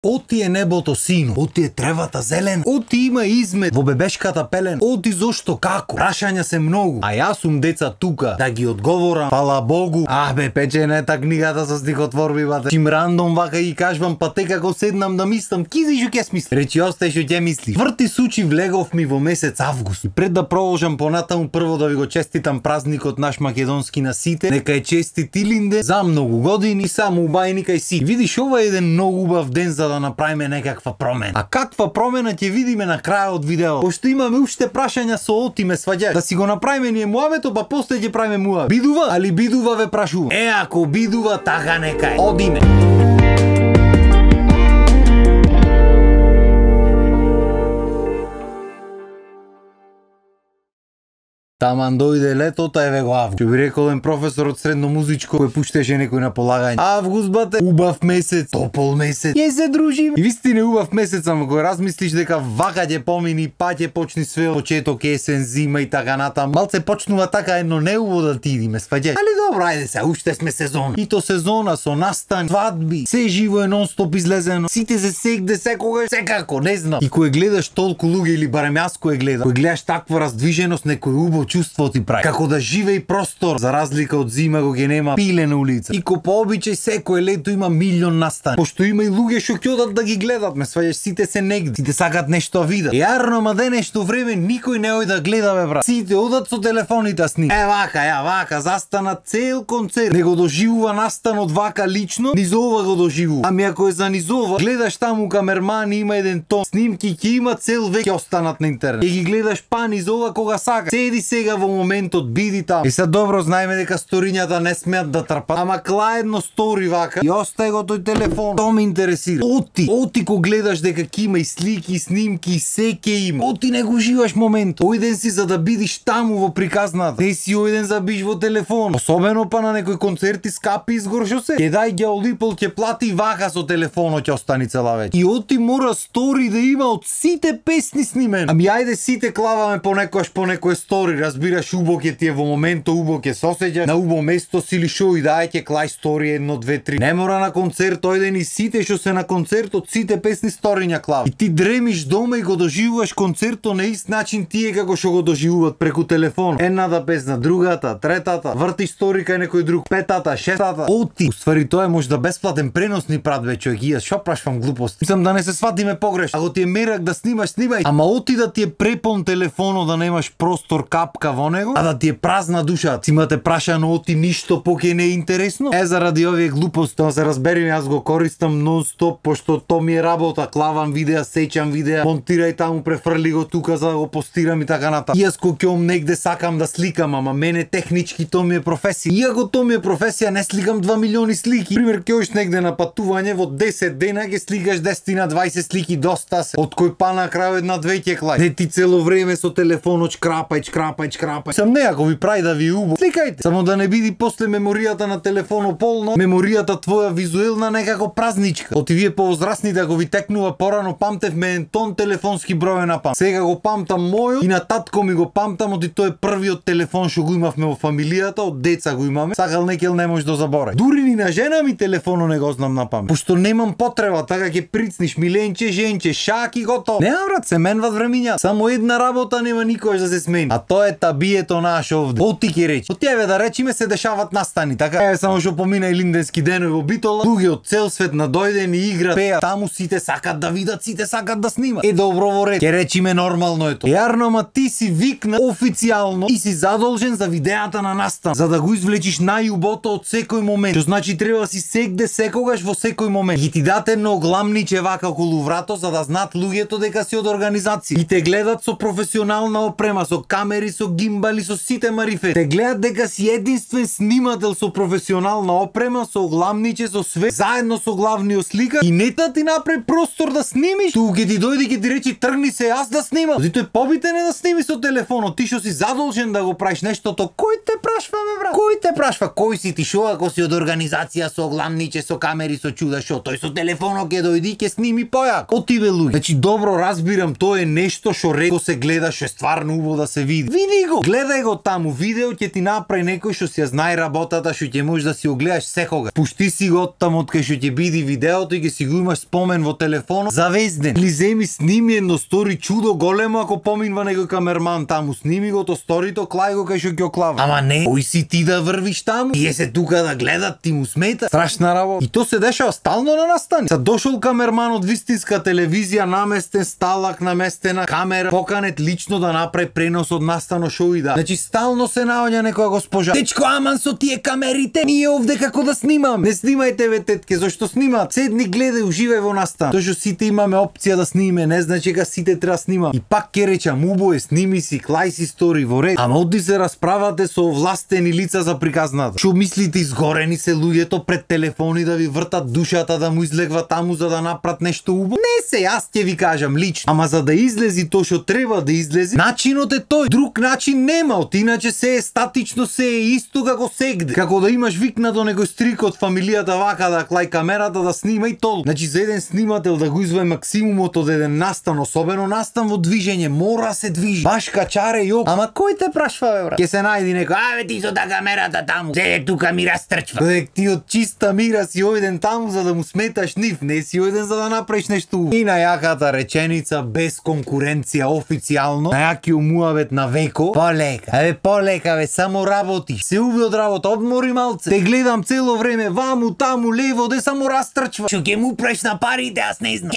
Оти е небото сино, оти е тревата зелен, оти има измет во бебешката пелен, оти зошто како? Прашања се многу, а јас сум деца тука да ги одговорам, фала Богу. Бе, печенета книгата со стихотворби, бате. Чим рандом вака и кажвам, па те како седнам да мислам, кизи шо ќе смисли. Речи остај шо ќе мислиш. Врти сучи влегов ми во месец август. И пред да продолжам понатаму, прво да ви го честитам празникот наш македонски на сите. Нека е честит Илинде за многу години, само убајни кај си. Видиш, ова е еден многу убав ден за да направиме некаква промена. А каква промена ќе видиме на крајот од видео? Пошто имаме уште прашања со Оти, ме сваѓаш. Да си го направиме ние муавето, па после ќе правиме муаве. Бидува? Али бидува ве прашувам. Ако бидува, така нека е. Одиме. Таман дојде летото, еве го август. Ќе би рекол еден професор од средно музичко кој пуштеше некој на полагање. Август, бате, убав месец, топол месец. Ќе се дружиме. И вистина убав месец, ама кога размислиш дека вака ќе помини, па ќе почни све од почеток, есен, зима и така натаму. Малце почнува така едно неубаво да ти идиме, сваѓаш. Али добро, ајде се, уште сме сезона. И то сезона со настан, свадби, се живо е нон-стоп излезено. Сите се сегде секогаш, секако, не знам. И кој гледаш толку луѓе или барем јас кој гледам, кој гледаш таква раздвиженост, некој убав чувство ти прави. Како да живее простор, за разлика од зима кога нема пиле на улица. И ко по обичај секое лето има милион настани. Пошто има и луѓе што ќе одат да ги гледат, ме сваѓаш, сите се негде. Сите сакат нешто видат. Јарно, ма денешто време никој не оди да гледа, бе брат. Сите одат со телефоните сни. Вака, застанат цел концерт. Не го доживува настанот вака лично, низ ова го доживува. Ами ако е за низ ова, гледаш таму камермани, има еден тон, снимки ќе има цел век ќе останат на интернет. И ги гледаш па низ ова кога сакаш. Седи сега во моментот, биди таму. И сега добро знаеме дека сторињата не смеат да трпат. Ама клаа едно стори вака и остај го тој телефон. То ме интересира. Оти ко гледаш дека ќе има и слики, и снимки, и се ќе има. Оти не го уживаш моментот. Ојден си за да бидиш таму во приказната. Не си ојден за биш во телефон. Особено па на некој концерти скапи изгор шо се. Ќе дај геолипол, ќе плати вака со телефонот ќе остани цела вечер. И оти мора стори да има од сите песни снимен. Ами ајде сите клаваме понекојаш по некој стори, разбираш, убо ќе ти е во моментот, убо ќе се осеќаш, на убо место си или шо и дај ќе клај стори 1, 2, 3. Не мора на концерт ојден и сите што се на концертот, сите песни сториња клав. И ти дремиш дома и го доживуваш концертот на ист начин тие како што го доживуваат преку телефон. Едната песна, другата, третата, врти стори кај некој друг, петата, шестата. Оти. Уствари тоа е можда бесплатен пренос ни прат ве човек. Шо прашвам глупост. Мислам да не се сватиме погрешно. Ако ти е мерак да снимаш, снимај. Ама оти да ти е препон телефонот, да немаш простор капка во него, а да ти е празна душа. Си имате прашано оти ништо поке не е интересно. Заради овие глупости, да се разбериме, јас го користам нон-стоп, пошто то ми е работа. Клавам видеа, сеќам видеа, монтирај таму, префрли го тука за да го постирам и така натаму. Јас кога ќе негде сакам да сликам, ама мене технички то ми е професија. Иако то ми е професија, не сликам 2 милиони слики. Пример, ќе одиш негде на патување, во 10 дена ќе сликаш 10 на 20 слики, доста се. Од кој па на крај една-две ќе клај. Не ти цело време со телефонот шкрапај. Сам не, ако ви прави да ви е убаво, сликајте. Само да не биди после меморијата на телефонот полно, меморијата твоја визуелна некако празничка. Оти вие повозрасните, ако ви текнува порано, памтевме еден тон телефонски број на пам. Сега го памтам мојот и на татко ми го памтам, оти тој е првиот телефон што го имавме во фамилијата, од деца го имаме. Сакал некел не може да заборави. Дури ни на жена ми телефонот не го знам на памет. Пошто немам потреба, така ќе прицниш миленче, женче, шак и готово. Нема брат, се менват времиња. Само една работа нема никош да се смени. А тоа е табието наше овде. Оти ќе речи. Оти еве да речиме се дешават настани, така? Еве само што помина Илинденски денови во Битола, луѓе од цел свет надојдени играат, пеат, таму сите сакат да видат, сите сакат да снимат. Добро во ред. Ќе речиме нормално е тоа. Јарно, ама ти си викна официјално и си задолжен за видеата на настан, за да го извлечиш најубото од секој момент. Што значи треба си сегде секогаш во секој момент. Ги ти дате едно гламниче вака околу врато за да знаат луѓето дека си од организација. И те гледат со професионална опрема, со камери, со гимбали, со сите марифет. Те гледат дека си единствен снимател со професионална опрема, со гламниче, со све, заедно со главниот сликар и нета ти направи простор да снимиш. Ту ќе ти дојде ќе ти речи тргни се јас да снимам. Тој побитен е да сними со телефонот. Ти што си задолжен да го правиш нештото, кој те прашва бе брат? Кој те прашва? Кој си ти шо ако си од организација со гламниче, со камери, со чуда шо? Тој со телефонот ќе дојди и ќе сними појако. Оти бе луѓе. Значи добро разбирам, тоа е нешто што реко се гледа, што е стварно убаво да се види. Види го, гледај го таму, видео ќе ти направи некој што си ја знае работата, што ќе можеш да си го гледаш секога. Пушти си го таму од кај што ќе биде видеото и ќе си го имаш спомен во телефонот завезден. Или земи сними едно стори чудо големо ако поминува некој камерман таму, сними го то сторито, клај го кај што ќе оклава. Ама не, кој си ти да врвиш таму? Тие се тука да гледат, ти му смета. Страшна работа. И то се дешава стално на настани. Са дошол камерман од вистинска телевизија, наместен сталак, наместена камера, поканет лично да направи пренос од настано шоу и да. Значи стално се наоѓа некоја госпожа. Дечко, аман со тие камерите, ние овде како да снимам. Не снимајте ве тетке, зашто снимаат? Седни, гледај, уживај во настан. Тоа што сите имаме опција да снимаме, не значи дека сите треба снимам. И пак ќе речам, убое, сними си, клај си стори во ред. Ама оди се расправате со овластени лица за приказната. Што мислите, изгорени се луѓето пред телефони да ви вртат душата, да му излегва таму за да направат нешто убаво? Не се, јас ќе ви кажам лично. Ама за да излези тоа што треба да излези, начинот е тој. Друг начин нема, од иначе се е статично, се е исто како сегде. Како да имаш викнато некој стрик од фамилијата вака да клај камерата да снима и толку. Значи за еден снимател да го извади максимумот од еден настан, особено настан во движење, мора се движи. Баш качаре јок. Ама кој те прашва бе брат? Ке се најди некој, аве ти со камерата таму. Се тука ми растрчва. Додек ти од чиста мира си ојден таму за да му сметаш нив, не си ојден за да направиш нешто. И најаката реченица без конкуренција официјално, најакиот муабет на Веко, полека бе, само работиш. Се уви од работа, одмори малце. Те гледам цело време, ваму, таму, лево, де само растрчва. Што ќе му преш на парите, аз не знам.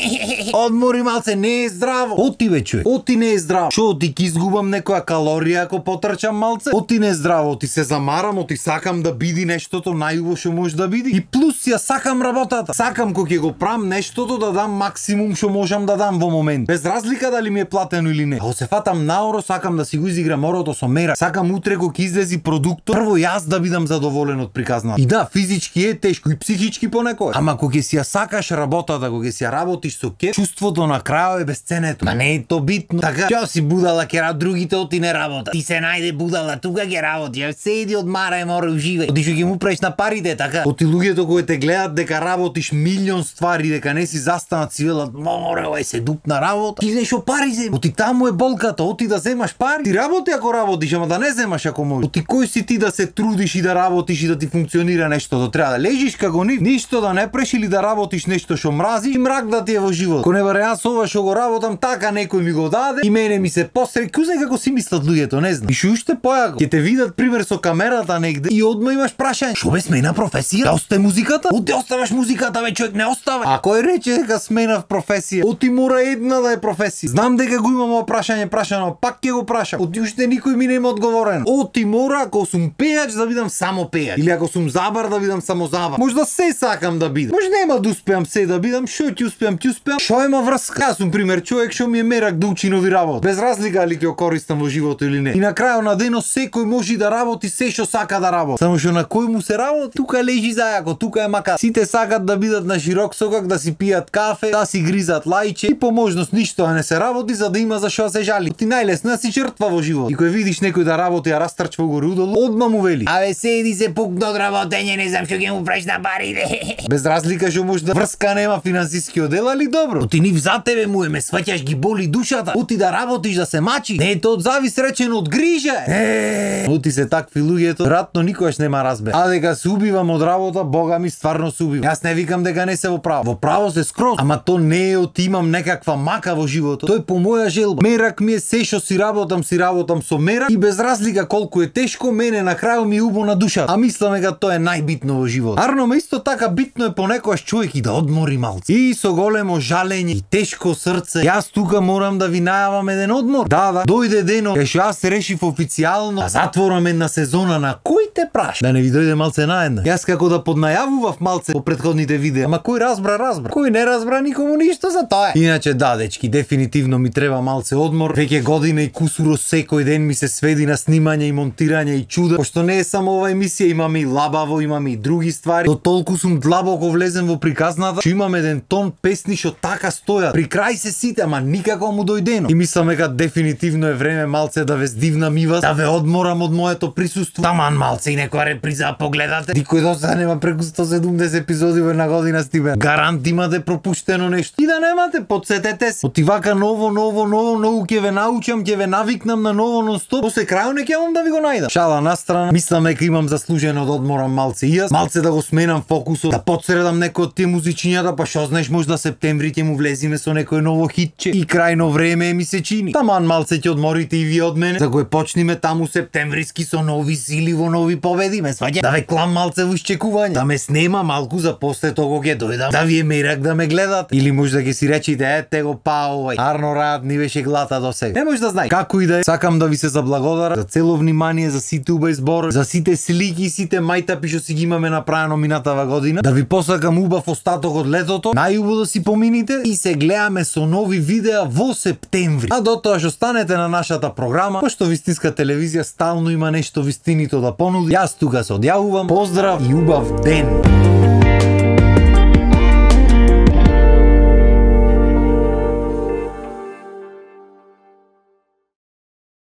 Одмори малце, не е здраво. Оти бе човек, оти не е здраво. Шо, оти ки изгубам некоја калорија ако потрчам малце? Оти не е здраво, оти се замарам, оти сакам да биди нештото најубаво што може да биди. И плюс ја сакам работата. Сакам кога ќе го правам нештото да дам максимум што можам да дам во момент. Без разлика дали ми е платено или не. Ако се фатам наоро, сакам да си го изиграм орото со мера. Сакам утре кога ќе излези продуктот, прво јас да бидам задоволен од приказната. И да, физички е тешко и психички понекогаш. Ама кога ќе си ја сакаш работата, кога ќе си ја работиш со кеф, чувството на крајот е безценето. Ма не е то битно. Така, ќе си будала ќе другите оти не работа. Ти се најде будала, тука ќе работи. Седи одмарај, мора уживај. Оти што ќе му преш на парите, така. Оти луѓето кои те гледат дека работиш милион ствари, дека не си застанат си велат, море, овај се дупна работа. Ти знаеш што пари зема. Оти таму е болката, оти да земаш пари. Ти работи ако работиш, ама да не земаш ако можеш. Оти кој си ти да се трудиш и да работиш и да ти функционира нештото? Треба да лежиш како нив, ништо да не преш или да работиш нешто што мразиш и мрак да ти е во живот. Ко не баре јас ова што го работам така некој ми го даде и мене ми се посреди, кузе како си мислат луѓето, не знам. И што уште појако, ќе те видат пример со камерата негде и одма имаш прашање. Што бе смена професија? Да осте музиката? Оти оставаш музиката, бе човек, не остава. А кој рече дека сменав професија? Оти мора една да е професија. Знам дека го имам ова прашање прашано, пак ќе го прашам. Оти уште никој ми нема одговорен. Оти мора ако сум пејач да бидам само пејач или ако сум забар да бидам само забар. Можда се сакам да бидам. Може нема да успеам се да бидам, што ќе успеам, Што има врска? Јас сум пример човек што ми е мерак да учи нови работи. Без разлика дали ќе користам во животот или не. И на крајот на денот секој може да работи се што сака да работи. Само што на кој му се работи, тука лежи зајако, тука е мака. Сите сакат да бидат на широк сокак, да си пијат кафе, да си гризат лајче и по можност ништо не се работи за да има за што се жали. Ти најлесно си жртва во живот. И кој видиш некој да работи, а растрчва горе удолу, одма му вели: "Абе седи се пукна од работење, не знам што ќе му преш на парите." Без разлика што може да врска нема финансиски оддел, али добро. Оти нив за тебе му ме сваќаш ги боли душата. Оти да работиш да се мачи. Не е тоа од завис речено од грижа. Оти се такви луѓето, веројатно никогаш нема разбере. А дека се убивам од работа, бога ми стварно се убивам. Јас не викам дека не се во право. Во право се скроз, ама то не е оти имам некаква мака во животот. Тој по моја желба. Мерак ми е се што си работам со мерак и без разлика колку е тешко, мене на крајот ми е убо на душата. А мислам дека тоа е најбитно во животот. Арно, ме исто така битно е понекогаш човек и да одмори малце. И со големо жалење и тешко срце, јас тука морам да ви најавам еден одмор. Да, дојде дено, кај што јас решив официјално да затворам една сезона на Кој те праша. Да не ви дојде малце наедна. Јас како да поднајавував малце по претходните видеа, ама кој разбра. Кој не разбра, никому ништо за тоа. Иначе да, дечки, дефинитивно ми треба малце одмор. Веќе година и кусуро секој ден ми се сведи на снимање и монтирање и чуда. Пошто не е само ова емисија, имаме и лабаво, имаме и други ствари. До толку сум длабоко влезен во приказната, што имам еден тон песни што така стојат. При крај се сите, ама никако му дојдено. И мислам дека дефинитивно е време малце да ве здивнам и вас, да ве одморам од моето присуство. Таман малце и некоја реприза погледате. Никој до сега нема преку 170 епизоди во една година стиме. Гарант имате пропуштено нешто. И да немате, подсетете се. Оти вака ново, многу ќе ве научам, ќе ве навикнам на ново нон-стоп, после крајот не ќе да ви го најдам. Шала на страна, мислам дека имам заслужено да одморам малце и јас, малце да го сменам фокусот, да подсредам некој од тие музичињата, па што знаеш можда септември ќе му влезиме со некој ново хитче и крајно време ми се чини. Таман малце ќе одморите и вие од мене, за го почниме таму септемвриски со нови сили во нови победи, ме сваѓа. Да ве клам малце во исчекување, да ме снема малку за после того ќе дојдам, да ви е мерак да ме гледат. Или може да ќе си речите, ете го па овај, Арно Раат ни беше глата до сега. Не може да знај. Како и да е, сакам да ви се заблагодарам за цело внимание, за сите убави зборови, за сите слики, сите мајтапи што си ги имаме направено минатава година. Да ви посакам убав остаток од летото, најубаво да си помините и се гледаме со нови видеа во септември. А до тоа што станете на нашата програма, пошто Вистинска телевизија стално има нешто вистинито да понуди. Јас тука се одјавувам. Поздрав и убав ден.